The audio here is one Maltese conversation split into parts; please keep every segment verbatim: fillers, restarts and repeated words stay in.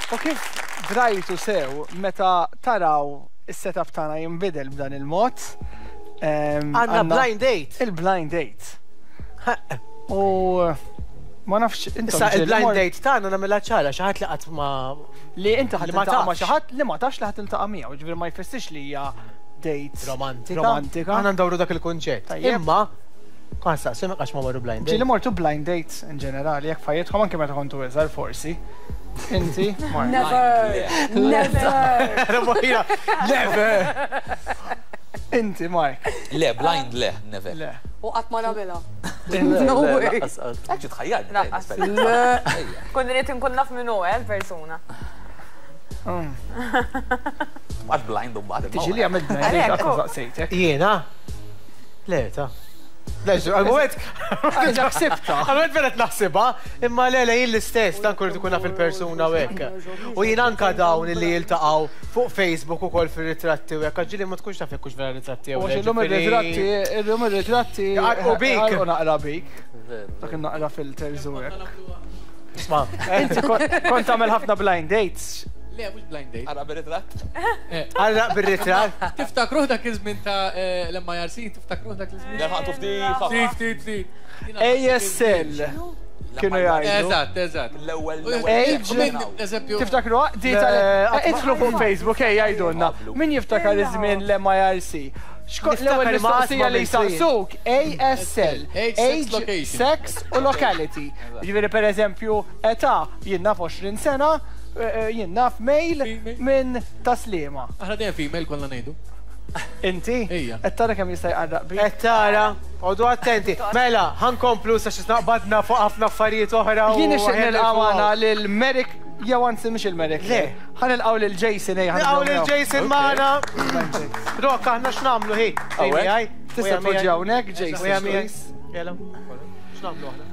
U kif drajtu sew meta taraw is-setup tagħna jinbidel b'dan il-mod. Għandna blind date. Il-blind date. U ma nafx intom Issa ġieli il-blind mort- date tagħna nagħmilha ċara, xi ħadd li qatt ma li inti ħa li ma tiltaqa' ma' tafx. xi ħadd li ma tafx li ħa tiltaqa' miegħu, ġifieri ma jfissirx li hija date romantika. Romantika. Aħna ndawru dak il-kunċett. Tajjeb. Imma kont saqsim għax ma marru blind Ġieli date. mortu blind dates in ġenerali, jekk f'ħajjitkom, anke meta kontu iżgħar forsi. Inti, Mark? Never! Never! Never! Inti, Mark? Le, blind le, never. Le. U qatt ma nagħmilha. Inti? No way. Għax tħajjarni. Lanqas. Kun rrid inkun naf min hu, eh, l-persuna. Mm. Għax blind u mbagħad. Tiġi li għamilt blind date, qatt ma saqsejtek. Jiena? Le, ta. Le, għal-moment. Għax ħsibta. Għal-moment vera naħsibha, imma le, le, jien l-istess, dan kull tkun naf il-persuna u hekk. U jien anka dawn li jiltaqgħu fuq Facebook ukoll fir-ritratti u hekk, ġieli ma tkunx taf jekk hux vera ritratti jew U le, illum ġifieri- ir-ritratti, illum ir-ritratti. Jaqarqu bik. Jaqarqu naqra bik. Dak naqra filters u hekk. Isma', Inti kon- kont tagħmel ħafna blind dates. Le, mhux blind date. Ara bir-ritratt. Għarraq bir-ritratt. Tiftakruh dak iż-żmien ta' eh, l-M I R C, tiftakruh dak iż-żmien? Nerħaqtu ftit. Ftit, ftit, ftit. A S L kienu jgħidu. Eżatt, eżatt. L-ewwel. Age. U min, eżempju, Tiftakru di tal Le, idħlu fuq Facebook, ej, jgħidulna. Min jiftakar iż-żmien l-M I R C? Xkont l-ewwel Niftakar ma mistoqsija li qatt ma jsaqsuk A S L. Age, sex, location. Sex u locality. Ġifieri, per eżempju, età, jien naf għoxrin sena, eh, eh, jien naf male Female. minn Tas-Sliema. Aħna dejjem female konna ngħidu. Inti? Ejja. Qed tara kemm jista' jqarraq bik? Qed tara, għodu attenti. Mela, ħa nkomplu sa xi naqbadna fuq ħafna affarijiet oħra. u Jien nixtieq ħen nilqa' magħna nilfuqaw. lil Merrick, jew anzi mhux il-Merrick. Le. Ħa nilqgħu lil Jason, ejja. Nilqgħu lil Jason magħna. Rok, aħna x'nagħmlu hi? Hawnhekk? Tista' tpoġġi hawnhekk, Jason, please. Jela. X'nagħmlu aħna?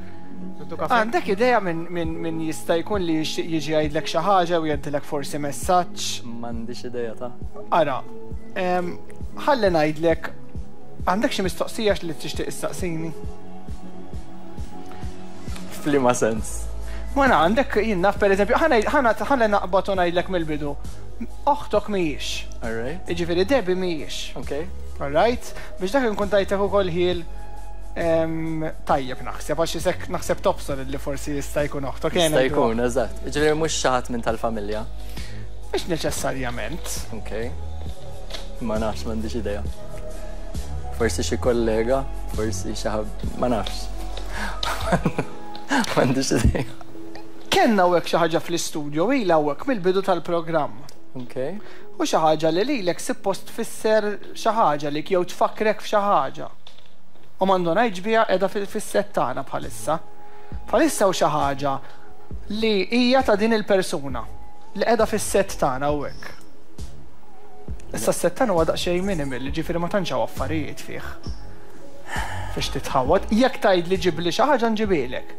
Niddu kafe? Għandek idea minn min, min jista' jkun li jixtieq jiġi jgħidlek xi ħaġa u jgħaddilek forsi messaġġ? M'għandix idea ta'. Ara, em, ħalli ngħidlek, għandek xi mistoqsija li tixtieq issaqsini? F'liema sens? Ma na għandek, jien naf, per eżempju, ħalli naqbad u ngħidlek mill-bidu. Oħtok mhijiex. Alright. Jiġifieri Debbie mhijiex. Okay. Alright? Biex dak nkun tajtek ukoll ħil em, tajjeb naħseb, għax isek naħseb tobsor li forsi jista' jkun oħtok. Jista' jkun, eżatt. Ġifieri mhux xi ħadd minn tal-familja. Mhux neċessarjament. Okay. Ma nafx, m'għandix idea. Forsi xi kollega, forsi xi ħadd, ma nafx. M'għandix idea. Kellna hawnhekk xi ħaġa fl-istudio, ilha hawnhekk mill-bidu tal-programm. Okay. U xi ħaġa li lilek suppost tfisser xi ħaġa li jew tfakkrek f'xi ħaġa. U m'għandux biha qiegħda fis-set tagħna bħalissa. Bħalissa u xi ħaġa li hija ta' din il-persuna li qiegħda fis-set tagħna hawnhekk. Issa s-set tagħna huwa daqsxejn minimal, ġifieri ma tantx hawn affarijiet fih biex titħawad. Jekk tgħid li ġibli xi ħaġa, nġibilek.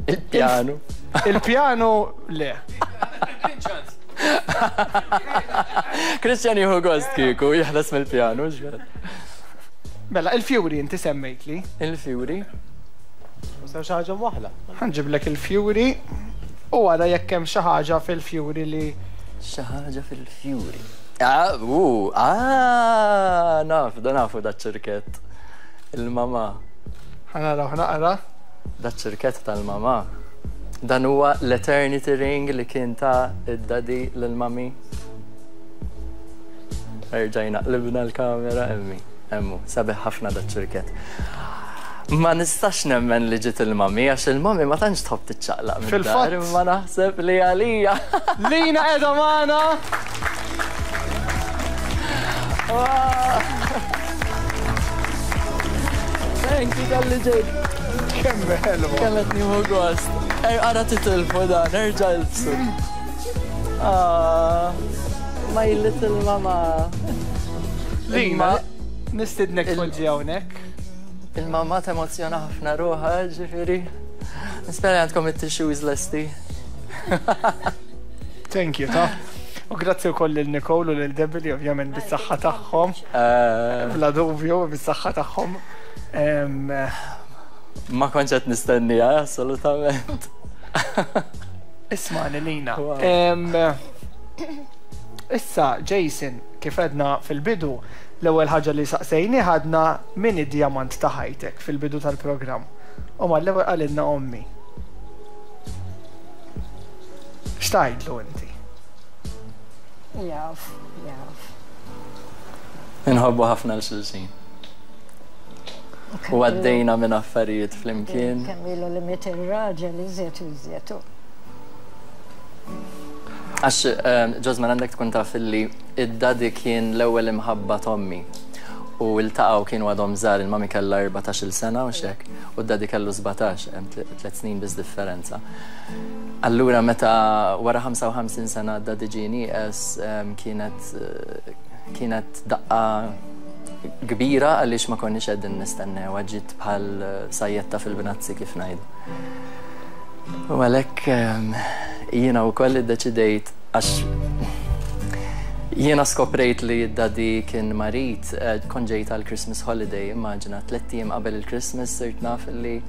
Il-pjanu. Il-pjanu le. Christian jieħu gost kieku jeħles mill-pjanu, ġver. Mela, il-fjuri inti semmejtli. Il-fjuri. Mustaw xi ħaġa waħla. Ħa nġiblek il-fjuri u għara jekk hemm xi ħaġa fil-fjuri li Xi ħaġa fil-fjuri. Ah, u, ah, naf, da nafu da ċirkett. Il-mama. Ħa naraw naqra. Da ċirkett tal-mama. Dan huwa l-eternity ring li kien ta id-daddy l-mami. Erġajna, qlibna l-kamera, emmi. Emmu, sabiħ ħafna da ċirkett. Ma nistax nemmen li ġiet il-mami, għax il-mami ma tantx tħobb tiċċaqlaq mid-dar, Fil-fatt. imma naħseb li għalija. Lina qiegħda magħna. Thank you talli ġejt. Kemm ħelwa. Kemm qed nieħu gost. Er, ara titilfu dan, erġa' ilbsu. Ah, my little mama. Lina, Imma nistidnek Il- tpoġġi hawnhekk. Il-mama temozjona ħafna ruħha, ġifieri. Nispera għandkom it-tissues lesti. Thank you, ta. U grazzi wkoll lil Nicole u lil Debbie li ovvjament bis-saħħa tagħhom. Eh, Bla dubju, bis-saħħa tagħhom. Em, Ma kontx qed nistennija, assolutament. Ismani, Lina. Issa, Jason, kif għedna fil-bidu, l-ewwel ħaġa li saqsejni ħadna min id-diamant ta' ħajtek fil-bidu tal-programm. U mal-ewwel qalilna ommi. X'tgħidlu inti? Jaf, jaf. Inħobbu ħafna l-xulxin. U għaddejna minn affarijiet flimkien. Kemm ilu li miet ir-raġel iżjed u iżjed. Għax, Ġosman, għandek tkun taf illi id-daddy kien l-ewwel imħabba t'ommi. U ltaqgħu kienu għadhom żgħar, il-mami kellha erbatax-il sena u xek, u d-daddy kellu sbatax, hemm tliet snin biss differenza. Allura meta wara ħamsa u ħamsin sena d-daddy ġie nieqes, kienet kienet daqqa kbira għaliex ma konniex qegħdin nistennew, ġiet bħal sajjetta fil-bnazzi kif ngħidu. U għalhekk jiena wkoll iddeċidejt għax jiena skoprejt li d-daddy kien marid, kont ġejt għal Christmas holiday, immaġina tliet ijiem qabel il-Christmas sirt naf li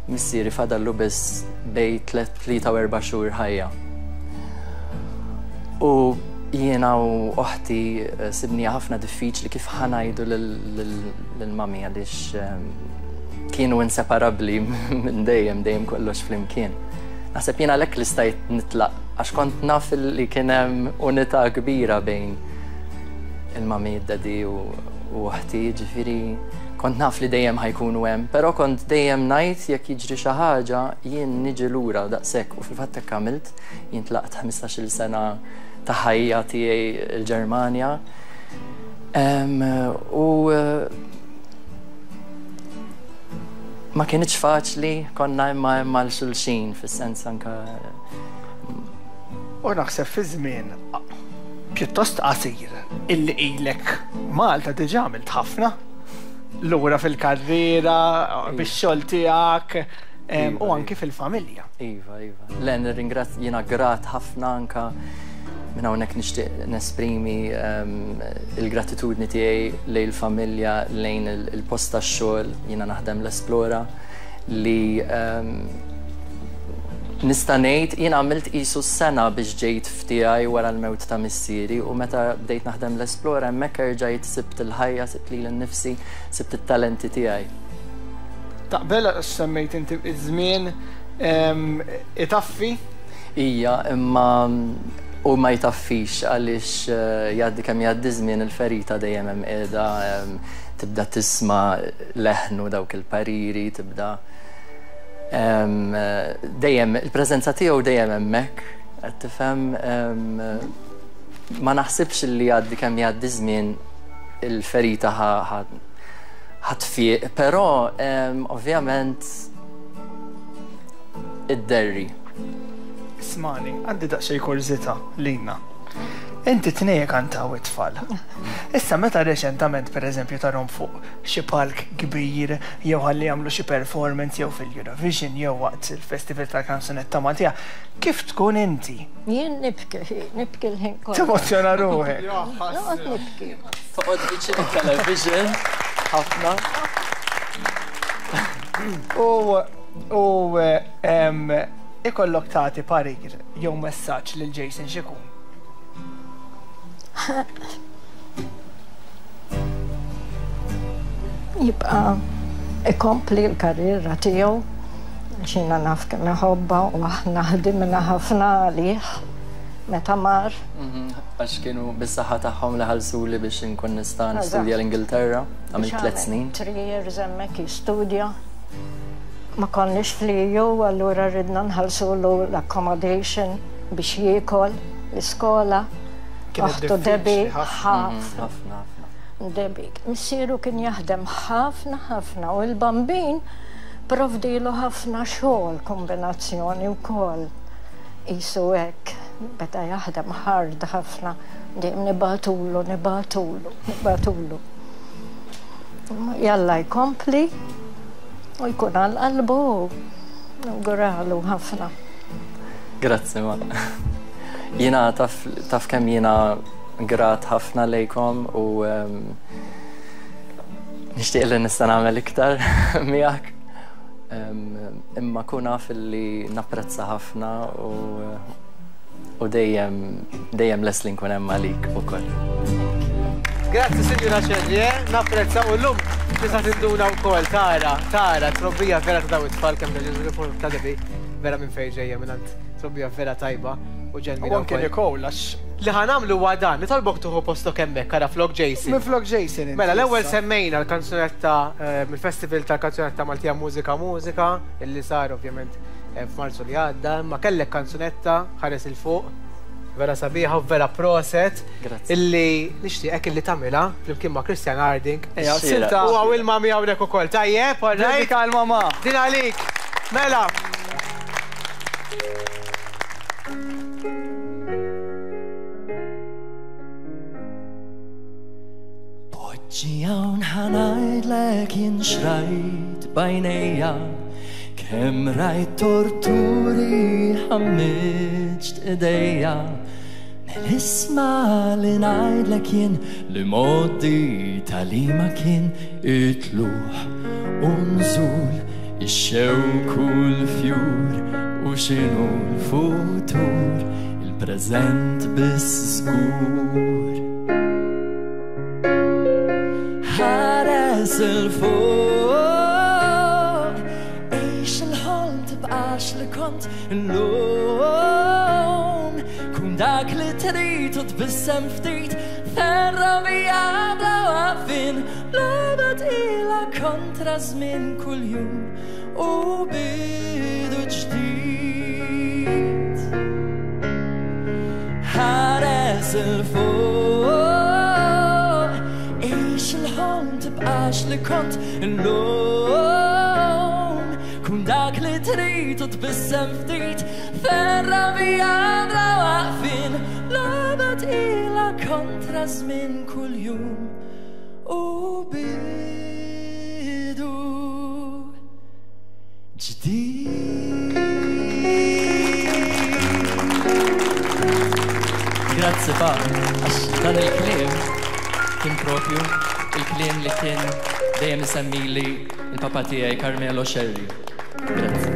missieri fadallu biss bej tlieta u erba' xhur ħajja. U jiena u oħti sibnija ħafna diffiċli kif ħanajdu lill-mami għaliex kienu inseparabbli minn dejjem, dejjem kollox flimkien. Naħseb jiena għalhekk li stajt nitlaq għax kont naf li kien hemm unità kbira bejn il-mami, id-daddy u oħti, ġifieri kont naf li dejjem ħajkunu hemm, però kont dejjem ngħid jekk jiġri xi ħaġa jien niġi lura daqshekk u fil-fatt hekk għamilt, jien tlaqt ħmistax-il sena ta' ħajja tiegħi l-Ġermanja. U ma kienx faċli, konna imma imma l-xulxin fis-sens anka. U naħseb fi żmien pjuttost qasir illi ilek Malta diġà għamilt ħafna lura fil-karriera, bix-xogħol tiegħek u anki fil-familja. Iva, iva. Le, nirringrazzja, jiena grat ħafna anka minn hawnhekk nixtieq nesprimi il-gratitudni tiegħi lejn il-familja, lejn il-post tax-xogħol, jiena naħdem l-Esplora li nista' ngħid jiena għamilt qisu sena biex ġejt f'tiegħi wara l-mewt ta' missieri u meta bdejt naħdem l-Esplora hemmhekk erġajt sibt il-ħajja, sibt lili nnifsi, sibt it-talenti tiegħi. Taqbel semmejt inti iż-żmien itaffi? Ija, imma u ma jtaffix għaliex jgħaddi kemm jgħaddi żmien il-ferita dejjem hemm qiegħda, tibda tisma' leħnu dawk il-pariri, tibda dejjem il-preżenza tiegħu dejjem hemmhekk, qed tifhem, ma naħsibx li jgħaddi kemm jgħaddi żmien il-ferita ħatfiq, però ovvjament id-derri. Ismani, għandi daqsxejn kurżità Lina. Inti tnejn kantaw it-tfal. Issa meta reċentament pereżempju tarhom fuq xi palk kbir jew ħalli jagħmlu xi performance jew fil-Eurovision jew waqt il-Festival tal-Kanzunetta Maltija, kif tkun inti? Jien nibki, nibki l-ħin kollu. Temozzjona ruħek. Noqgħod nibki. Toqgħod viċin it-television ħafna. U u ikollok tagħti parir jew messaġġ lil Jason x'ikun? Jibqa' ikompli l-karriera tiegħu għax jiena naf kemm iħobbha u aħna ħdimna ħafna għalih meta mar. Għax kienu bis-saħħa tagħhom li ħallsuli biex inkun nista' nistudja l-Ingilterra, għamilt tliet snin. Three years hemmhekk jistudja. Ma konniex fl-E U, allura ridna nħallsulu l-accommodation biex jiekol l-iskola. Oħtu Debbie ħafna. Ħafna. Debbie. Missieru kien jaħdem ħafna ħafna u l-bambin provdilu ħafna xogħol kombinazzjoni wkoll. Isu hekk, beda jaħdem hard ħafna, dejjem nibatulu, nibatulu, nibatulu. Jalla jkompli u jkun għal qalbu, nawguralu ħafna. Grazzi ma. Jiena taf, taf kemm jiena grat ħafna lejkom u nixtieq li nista' nagħmel iktar miegħek. Imma kun naf li napprezza ħafna u u dejjem dejjem lest li nkun hemm għalik ukoll. Grazzi Sinjura Scerri, eh? Napprezza u llum tista' tinduna wkoll tara, tara trobbija vera ta' daw it-tfal kemm ta' ta' Debbie, vera minn fejn ġejja minn trobbija vera tajba u ġenwina. U anke Nicole għax li ħa nagħmlu huwa dan, nitolbok tuħu postok hemmhekk ara flok Jason. Minn flok Jason. Mela l-ewwel semmejna l-kanzunetta mill-Festival tal-Kanzunetta Maltija Mużika Mużika illi sar ovvjament f'Marzu li għadda, imma kellek kanzunetta ħares il fuq vera sabiħa u vera proset illi nixtieqek illi tagħmilha flimkien ma' Christian Harding. Ejja, silta. U hawn il-mami hawnhekk ukoll. Tajjeb, all right? Dedika l-mama. Din għalik. Mela. Poġġi hawn ħa ngħidlek jien xrajt b'għajnejja, kemm rajt torturi ħammiġt idejja. Mel-isma li ngħidlek jien li modi tal-ima kien it-tluħ u nżul, ix-xewk u l-fjur u x'inhu l-futur, il-preżent biss żgur. Ħares il-fuq, għix il-ħolm tibqax li kont illum, kun dak li trid u tbissem ftit, ferrovija bla waqfien, logħba tqila kontra żmien kuljum u bidu ġdid. Ħares il-fuq, għix il-ħolm tibqax li kont illum, kun dak li trid u tbissem ftit, ferrovija bla waqfien, logħba tqila kontra żmien kuljum u bidu ġdid. Grazzi pa, għax dan il-kliem kien propju il-kliem li kien dejjem isemmili il-papa tiegħi Carmelo Scerri. Grazzi.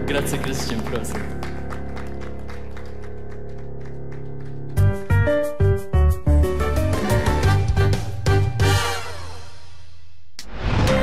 Grazzi Christian, prosit.